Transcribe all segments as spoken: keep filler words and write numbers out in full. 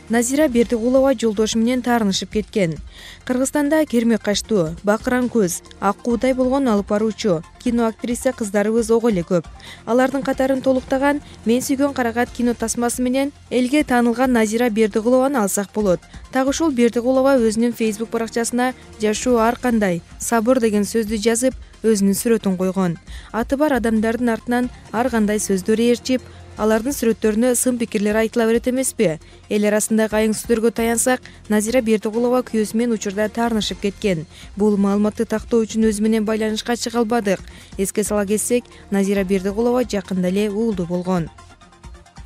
Назира Бердигулова жолдошу менен таарынышып кеткен. Кыргызстанда кермек качтуу, бакыран көз, ак куудай болгон алып баруучу кино актриса кыздарыбыз ого эле көп. Алардын катарын толуктаган Мен сүйгөн карагат кино тасмасы менен элге таанылган Назира Бердигулованы алсак болот. Так ушул Бердигулова өзүнүн Facebook баракчасына жашоо ар кандай, сабыр деген сөздү жазып, өзүнүн сүрөтүн койгон. Аты бар адамдардын артынан ар кандай сөздөр ээрчип, алардын сүрөттөрүнө сын пикирлер айтыла берет эмеспи? Эл арасындагы айың сөздөргө таянсак, Назира Бердигулова күйөөсү менен учурда таарынышып кеткен. Бул маалыматты тактоо үчүн өзү менен байланышка чыга албадык. Эске сала кетсек, Назира Бердигулова жакында эле уулду болгон.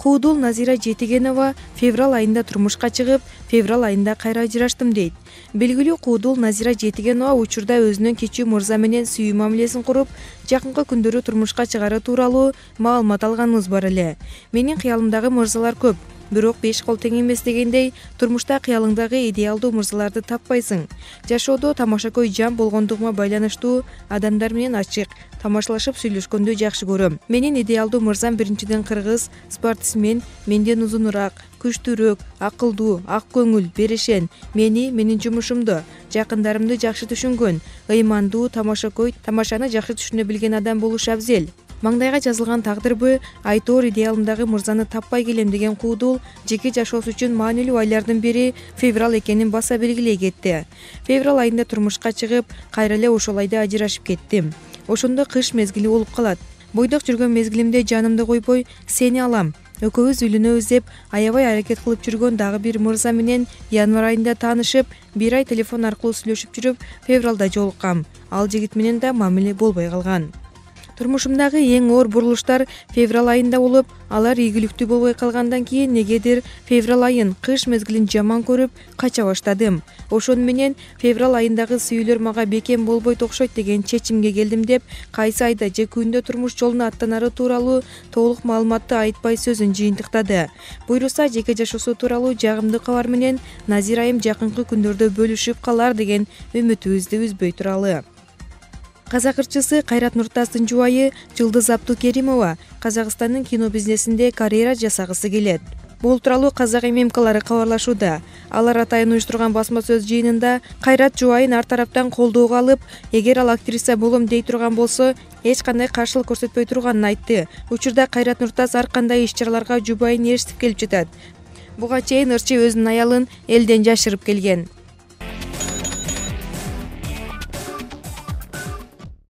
Куудул Назира Жетигенова февраль айында турмушка чыгып, февраль айында кайра ажыраштым дейт. Белгилүү куудул Назира Жетигенова учурда өзүнүн кичүү мырза менен сүйүү мамилесин куруп, жакынкы күндөрү турмушка чыгары тууралуу маалымат алганыбыз бар эле. Менин кыялымдагы мырзалар көп, бирок беш кол тең эмес дегендей, турмушта кыялыңдагы идеалдуу мырзаларды таппайсың. Жашоодо тамашакөй жан болгондугума байланыштуу адамдар менен ачык, тамашалашып сүйлөшкөндү жакшы көрөм. Менин идеалдуу мырзам биринчиден кыргыз, спортсмен, менден узунураак, күчтүүрөөк, акылдуу, ак көңүл, берешен, мени, менин жумушумду, жакындарымды жакшы түшүнгөн, ыймандуу, тамашакөй, тамашаны жакшы түшүнө билген адам болуш абзел. Маңдайга жазылган тагдырбы, айтоор идеалымдагы мырзаны таппай келем деген куудул жеке жашоосу үчүн маанилүү айлардын бири февраль экенин баса белгилей кетти. Февраль айында турмушка чыгып, кайра эле ошол айда ажырашып кеттим. Ошондо кыш мезгили болуп калат. Бойдок жүргөн мезгилимде жанымды койбой, сени алам, экөөбүз үйлөнөбүз деп аябай аракет кылып жүргөн дагы бир мырза менен январь айында таанышып, бир ай телефон аркылуу сүйлөшүп жүрүп, февралда жолуккам. Ал жигит менен да мамиле болбой калган. Турмушумдагы эң оор бурулуштар февраль айында болуп, алар ийгиликтүү болбой калгандан кийин негедир февраль айын, кыш мезгилин жаман көрүп, кача баштадым. Ошону менен февраль айындагы сүйүүлөр мага бекем болбойт окшойт деген чечимге келдим деп, кайсы айда же күндө турмуш жолуна аттанары тууралуу толук маалыматты айтпай сөзүн жыйынтыктады. Буйруса жеке жашоосу тууралуу жагымдуу кабар менен Назира айым жакынкы күндөрдө бөлүшүп калар деген үмүтүбүздү үзбөй туралы. Казак ырчысы Кайрат Нуртастын жубайы Жылдыз Абдукеримова Казакстандын кино бизнесинде карьера жасагысы келет. Бул тууралуу Казак ММКлары кабарлашууда. Алар атайын уюштурган басма сөз жыйынында Кайрат жубайын ар тараптан колдоого алып, эгер ал актриса болом дей турган болсо, эч кандай каршылык көрсөтпөй турганын айтты. Учурда Кайрат Нуртас ар кандай иш-чараларга жубайын ээрчитип келип жатат. Буга чейин ырчы өзүнүн аялын элден жашырып келген.